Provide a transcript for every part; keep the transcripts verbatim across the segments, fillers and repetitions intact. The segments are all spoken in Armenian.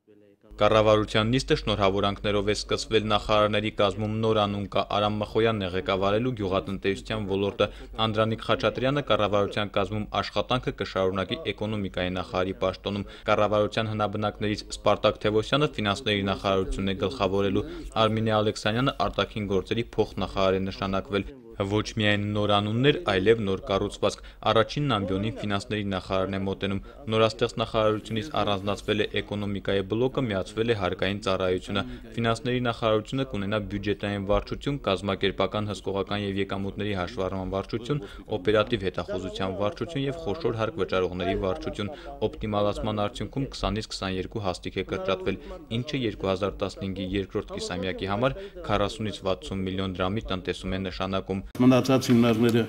Կառավարության նիստը շնորհավորանքներով է սկսվել նախարարների կազմում նոր անուն կա Արամ Մխոյանն է ղեկավարելու գյուղատնտեսության ոլորտը, Անդրանիկ Խաչատրյանը կառավարության կազմում աշխատանքը կշարունակի էկոնոմիկայի նախարարի պաշտոնում, կառավարության հնաբնակներից Սպարտակ Թևոսյանը ֆինանսների նախարարությունն է գլխավորելու, Արմինե Ալեքսանյանը արտաքին գործերի փոխնախարար է նշանակվել։ Ոչ միայն նոր անուններ, այլև նոր կառուցվածք։ Առաջինն ամբիոնին ֆինանսների նախարարն է մոտենում։ Նորաստեղծ նախարարությունից առանձնացվել է էկոնոմիկայի բլոկը, միացվել է հարկային ծառայությունը։ Ֆինանսների նախարարությունը կունենա բյուջետային վարչություն, կազմակերպական հսկողական եւ եկամուտների հաշվառման վարչություն, օպերատիվ հետախուզության վարչություն եւ խոշոր հարկ վճարողների վարչություն։ Օպտիմալացման արդյունքում քսանից քսաներկու հաստիք է կրճատվել, ինչը երկու հազար տասնհինգի երկրորդ կիսամյակի համար քառասունից վաթսուն միլիոն դրամի տնտեսում է նշանակում։ Մնացած հիմնարկները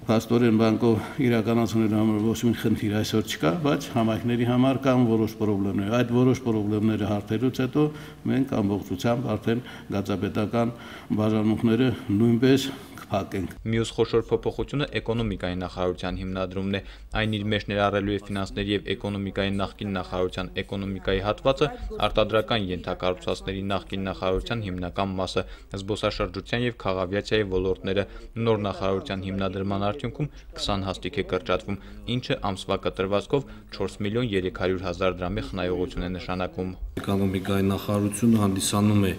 փաստորեն բանկով իրականացնելու համար ոչ մի խնդիր այսօր չկա, բայց համայնքների համար կան որոշ խնդիրներ։ Այդ որոշ խնդիրները հարթելուց հետո մենք ամբողջությամբ արդեն գազապետական բաժանմունքները նույնպես կփակենք։ Մյուս խոշոր փոփոխությունը էկոնոմիկայի նախարարության հիմնադրումն է։ Այն իր մեջ ներառելու է ֆինանսների եւ էկոնոմիկայի նախկին նախարարության էկոնոմիկայի հատվածը, արտադրական ենթակառուցվածքների նախկին նախարարության հիմնական մասը, զբոսաշրջության եւ քաղավիացիայի ոլորտները։ Նոր նախարարության հիմնադրման արդյունքում քսան հաստիք է կրճատվում, ինչը ամսվա կտրվածքով չորս միլիոն երեք հարյուր հազար դրամի խնայողություն է նշանակում։ Էկոնոմիկայի նախարարությունը հանդիսանում է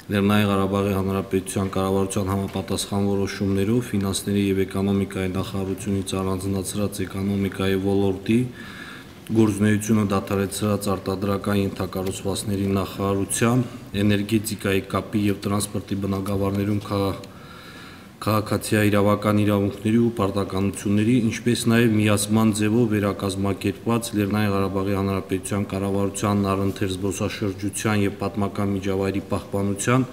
Լեռնային Ղարաբաղի Հանրապետության կառավարության համապատասխան որոշումներով ֆինանսների եւ էկոնոմիկայի նախարարությունից առանձնացրած էկոնոմիկայի ոլորտի գործունեությունը դադարեցրած արտադրական ենթակառուցվածքների նախարարության, էներգետիկայի, կապի եւ տրանսպորտի բնագավառներում քաղաքացիական իրավական իրավունքների ու պարտականությունների, ինչպես նաև միացման ձևով վերակազմակերպված Լեռնային Ղարաբաղի Հանրապետության կառավարության առընթեր զբոսաշրջության եւ պատմական միջավայրի պահպանության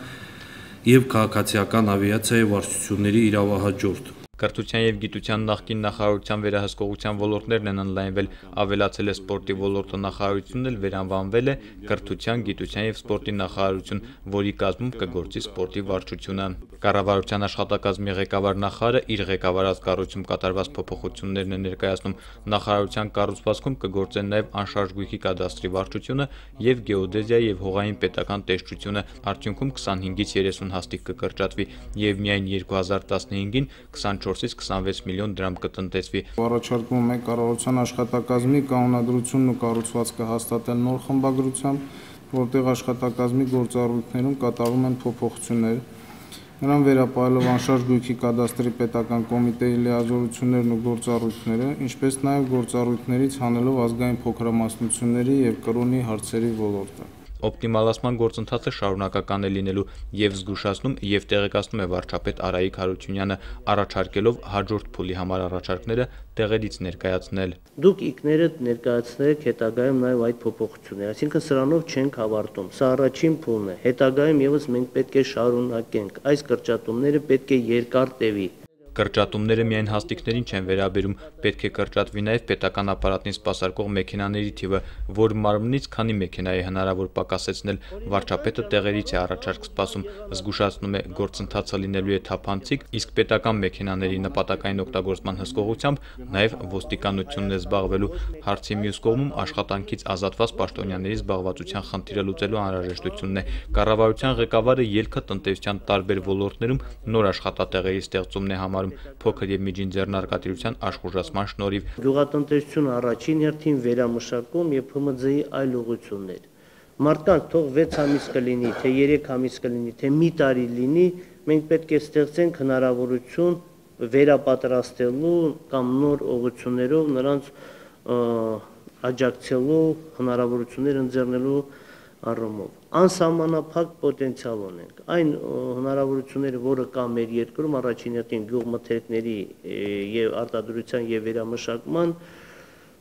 եւ քաղաքացիական ավիացիայի վարչությունների իրավահաջորդ։ Կրթության եւ գիտության նախկին նախարարության վերահսկողության ոլորտներն են ընդլայնվել, ավելացել է սպորտի ոլորտը, նախարարությունն էլ վերանվանվել է Կրթության, գիտության եւ սպորտի նախարարություն, որի կազմում կգործի սպորտի վարչությունը։ Կառավարության աշխատակազմի ղեկավար նախարարը իր ղեկավարած կառույցում կատարված փոփոխություններն է ներկայացնում։ Նախարարության կառուցվածքում կգործեն նաեւ անշարժ գույքի կադաստրի վարչությունը եւ գեոդեզիայի եւ հողային պետական տեսչությունը, արդյունքում քսանհինգից երեսուն հաստիք կկրճատվի եւ միայն երկու հազար տասնհինգին քսանչորսից քսանվեց միլիոն դրամ կտնտեսվի։ Առաջարկվում է կառավարության աշխատակազմի կանոնադրությունն ու կառուցվածքը հաստատել նոր խմբագրությամբ, որտեղ աշխատակազմի գործառույթներում կատարվում են փոփոխություններ։ Նրան վերապահելով անշարժ գույքի կադաստրի պետական կոմիտեի լիազորություններն ու գործառույթները, ինչպես նաև գործառույթներից հանելով ազգային փոքրամասնությունների եւ կրոնի հարցերի ոլորտը։ Օպտիմալացման գործընթացը շարունակական է լինելու եւ զգուշացնում եւ տեղեկացնում է վարչապետ Արայիկ Հարությունյանը, առաջարկելով հաջորդ փուլի համար առաջարկները տեղերից ներկայացնել։ Դուք ինքներդ ներկայացնեք հետագայում նաեւ այդ փոփոխությունները, այսինքն սրանով չենք ավարտում։ Սա առաջին փուլն է։ Հետագայում եւս մենք պետք է շարունակենք։ Այս կրճատումները պետք է երկար տևի։ Կրճատումները միայն հաստիկներին չեն վերաբերում, պետք է կրճատվի նաև պետական ապարատին սպասարկող մեքենաների թիվը, որ մարմնից քանի մեքենա է հնարավոր պակասեցնել, վարչապետը տեղերից է առաջարկ սպասում, զգուշացնում է գործընթացը լինելու է թափանցիկ, իսկ պետական մեքենաների նպատակային օգտագործման հսկողությամբ նաև ոստիկանությունն է զբաղվելու, հարցի մյուս կողմում աշխատանքից ազատված պաշտոնյաների զբաղվածության խնդիրը լուծելու անհրաժեշտությունն է, կառավարության ղեկավարը ելքը տնտեսության տարբեր ոլորտներում նոր աշխատատեղերի ստեղծումն է համարում փոքր եւ միջին ձեռնարկատիրության աշխուժացման շնորհիվ։ Գյուղատնտեսությունը առաջին հերթին վերամշակում եւ Փ M Ծ-ի այլ ուղղություններ։ Մարդկանց թող վեց ամիս կլինի, թե երեք ամիս կլինի, թե մի տարի լինի, մենք պետք է ստեղծենք հնարավորություն վերապատրաստելու կամ նոր ուղղություններով նրանց աջակցելու հնարավորություններ ընձեռնելու առումով անսահմանափակ պոտենցիալ ունենք։ Այն հնարավորությունները, որը կա մեր երկրում, առաջին հերթին գյուղմթերքների եւ արտադրության եւ վերամշակման,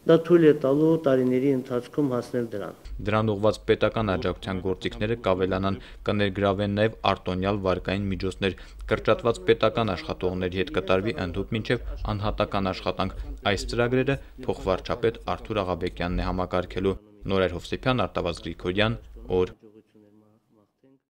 դա թույլ է տալու տարիների ընթացքում հասնել դրան։ Դրան ուղղված պետական աջակցության գործիքները կավելանան, կներգրավեն նաեւ արտոնյալ վարկային միջոցներ, կրճատված պետական աշխատողների հետ կտարվի ընդհուպ մինչեւ անհատական աշխատանք։ Այս ծրագրերը փոխվարչապետ Արթուր Աղաբեկյանն է համակարգելու։ Նորայր Հովսեփյան, Արտավազդ Գրիգորյան, օր